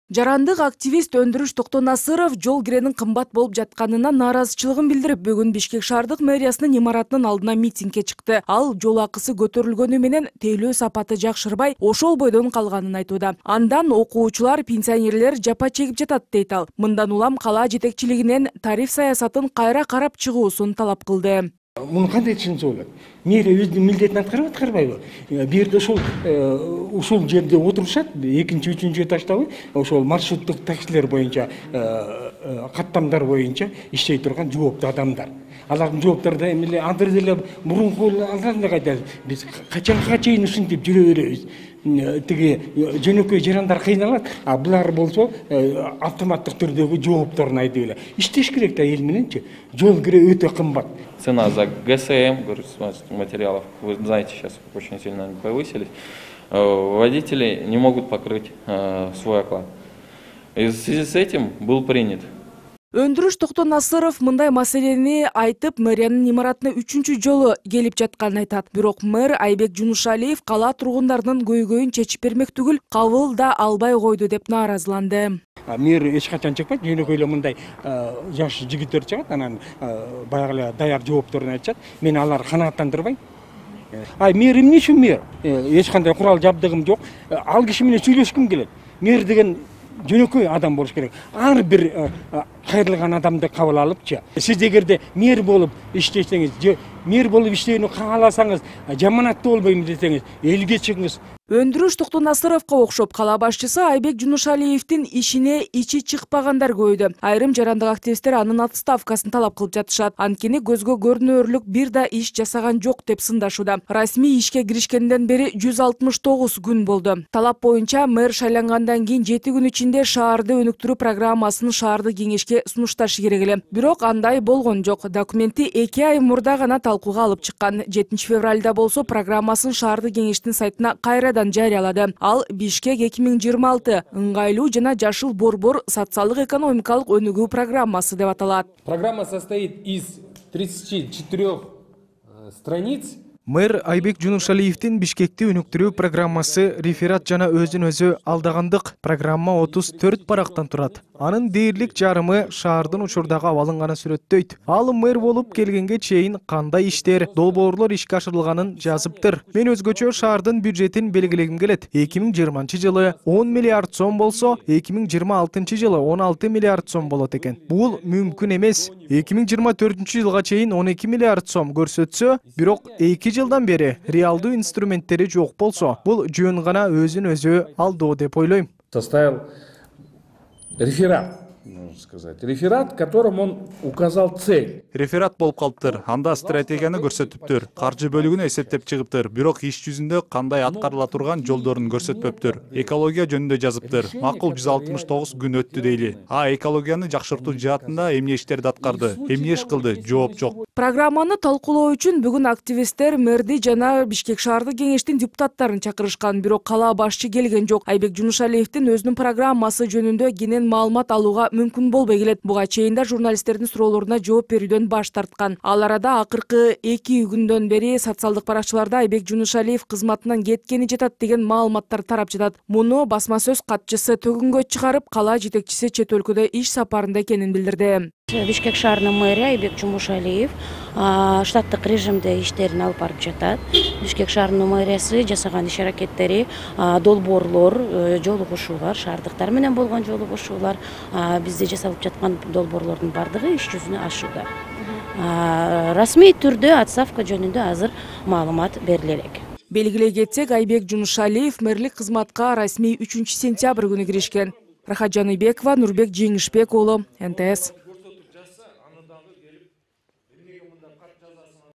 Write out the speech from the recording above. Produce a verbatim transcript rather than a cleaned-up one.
Жарандык активист Өндүрүш Токтонасыров жол киренин кымбат болуп жатканына нааразычылыгын билдирип, бүгүн Бишкек шаардык мэриясынын имаратынын алдына митингге чыкты. Ал жол акысы көтөрүлгөнү менен тейлөө сапаты жакшырбай, ошол бойдон калганын айтууда. Андан окуучулар, пенсионерлер жапа чегип жатат дейт ал. Мындан улам кала жетекчилигинен тариф саясатын кайра карап чыгуусун талап кылды. Муну кандай түшүнсө болот? Мэрия өзүнүн милдетин аткарып аткарбайбы? Бул жерде ошол ушул жерде отурушат, экинчи, үчүнчү этаждабы, ошол маршруттук таксилер боюнча, каттамдар боюнча иштей турган жооптуу адамдар. Алардын жооптары эмне андыр деле мурунку алганда кайда биз качанга чейин ушинтип жүрө беребиз. Тиги жөнөкөй жарандар кыйналат, а булар болсо автоматтык түрдөгү жоопторун айтып эле. Иштеш керек да эл мененчи. Жол кире өтө кымбат. Цена за ГСМ, материалов, вы знаете, сейчас очень сильно повысились. Водители не могут покрыть свой оклад. И в связи с этим был принят. Өндүрүш Токтонасыров мындай маселени айтып, мэриянын имаратына үчүнчү жолу келип жатканын айтат. Бирок мэр Айбек Жунушалиев кала тургундарынын көйгөйүн чечип бермек түгүл, кабыл да албай койду деп нааразыланды. Мэр эч качан чыкпайт, жөнөкөй эле мындай жаш жигиттер чыгат, анан баягы эле даяр жоопторун айтышат. Мен алар канааттандырбайм. Ай, мэр эмне үчүн мэр? Эч кандай курал жабдыгым жок. Ал киши менен сүйлөшкүм келет. Мэр деген жөнөкөй адам болуш керек. Ар бир кайрылган адамды кабыл алыпчы. Сиз эгерде мэр болуп иштесеңиз, мэр болуп иштөөнү кааласаңыз, жаманаттуу болбойм десеңиз, элге чыгыңыз. Өндүрүш Токтонасыровго окшоп кала башчысы Айбек Жунушалиевдин ишине ичи чыкпагандар көбөйдү. Айрым жарандык активисттер анын отставкасын талап кылып жатышат. Анткени көзгө көрүнөрлүк бир да иш жасаган жок деп сындашууда. Расмий ишке киришкенден бери жүз алтымыш тогуз күн болду. Талап боюнча мэр шайлангандан кийин жети күн ичинде шаарды өнүктүрүү программасын шаардык кеңешке сунушташы керек эле. Бирок андай болгон жок. Документти эки ай мурда гана талкууга алып чыккан. жетинчи февралда болсо программасын шаардык кеңештин сайтына кайрадан жарыялады. Ал Бишкек эки миң жыйырма алты ыңгайлуу жана жашыл борбор социалдык экономикалык өнүгүү программасы деп аталат. Программа состоит из тридцати четырёх страниц. Мэр Айбек Жунушалиевдин Бишкекти өнүктүрүү программасы реферат жана өзүн өзү алдагандык программа отуз төрт барактан турат. Анын дээрлик жарымы шаардын учурдагы абалын гана сүрөттөйт. Ал мэр болуп келгенге чейин кандай иштер, долбоорлор ишке ашырылганын жазыптыр. Мен өзгөчө шаардын бюджетин белгилегим келет. эки миң жыйырманчы жылы он миллиард сом болсо, эки миң жыйырма алтынчы жылы он алты миллиард сом болот экен. Бул мүмкүн эмес. эки миң жыйырма төртүнчү жылга чейин он эки миллиард сом көрсөтсө, бирок эки жылдан бери реалдуу инструменттери жок болсо, бул жөн гана өзүн өзү алдоо деп ойлойм. Составил реферат, можно сказать. Реферат, которым он указал цель. Реферат болуп калыптыр. Анда стратегияны көрсөтүптүр. Каржы бөлүгүнү эсептеп чыгыптыр. Бирок иш жүзүндө кандай аткарыла турган жолдорун көрсөтпөптүр. Экология жөнүндө жазыптыр. Макул жүз алтымыш тогуз күн өттү дейли. А экологияны жакшыртуу жаатында эмне иштерди аткарды, эмне иш кылды, жооп жок. Программаны талкуулоо үчүн бүгүн активисттер мэрди жана Бишкек шаардык кеңештин депутаттарын чакырышкан, бирок кала башчы келген жок. Айбек Жунушалиевдин өзүнүн программасы жөнүндө кенен маалымат алууга мүмкүн болбой келет. Буга чейин да журналисттердин суроолоруна жооп берүүдөн баш тарткан. Ал арада акыркы эки күндөн бери социалдык баракчыларда Айбек Жунушалиев кызматынан кеткени жатат деген маалыматтар тарап жатат. Муну басма сөз катчысы төгүнгө чыгарып, кала жетекчиси чет өлкөдө иш сапарында экенин билдирди. Бишкек шаарынын мэрия Айбек Жунушалиев штаттык режимде иштерин алып барып жатат. Бишкек шаарынын мэриясы жасаган иш аракеттери, долбоорлор, жолугушуулар, шаардыктар менен болгон жолугушуулар, бизде жасалып жаткан долбоорлордун бардыгы иш жүзүнө ашууда. Расмий түрдө отставка жөнүндө азыр маалымат бериле элек. Белгилей кетсек, Айбек Жунушалиев мэрлик кызматка расмий үчүнчү сентябрь күнү киришкен. Рахат Жаныбекова, Нурбек Жеңишбек уулу, эн тэ эс.